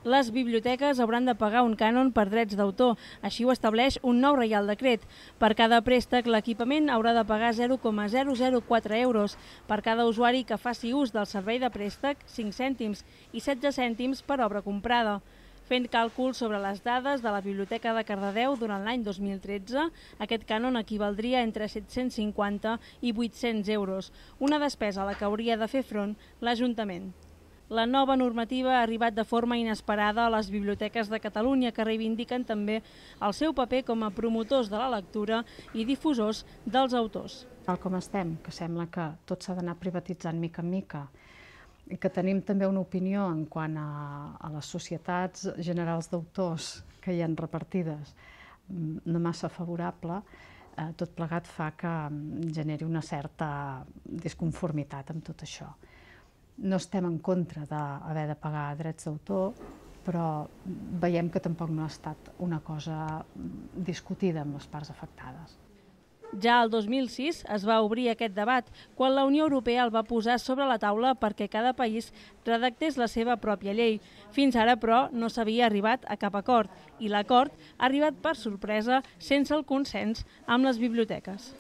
Les biblioteques hauran de pagar un cànon per drets d'autor. Així ho estableix un nou Reial Decret. Per cada préstec, l'equipament haurà de pagar 0,004 euros. Per cada usuari que faci ús del servei de préstec, 5 cèntims i 16 cèntims per obra comprada. Fent càlculs sobre les dades de la Biblioteca de Cardedeu durant l'any 2013, aquest cànon equivaldria entre 750 i 800 euros, una despesa a la que hauria de fer front l'Ajuntament. La nova normativa ha arribat de forma inesperada a les biblioteques de Catalunya, que reivindiquen també el seu paper com a promotors de la lectura i difusors dels autors. Tal com estem, que sembla que tot s'ha d'anar privatitzant mica en mica, i que tenim també una opinió en quant a les societats generals d'autors que hi ha repartides no massa favorable, tot plegat fa que generi una certa disconformitat amb tot això. No estem en contra d'haver de pagar drets d'autor, però veiem que tampoc no ha estat una cosa discutida amb les parts afectades. Ja el 2006 es va obrir aquest debat, quan la Unió Europea el va posar sobre la taula perquè cada país redactés la seva pròpia llei. Fins ara, però, no s'havia arribat a cap acord, i l'acord ha arribat per sorpresa sense el consens amb les biblioteques.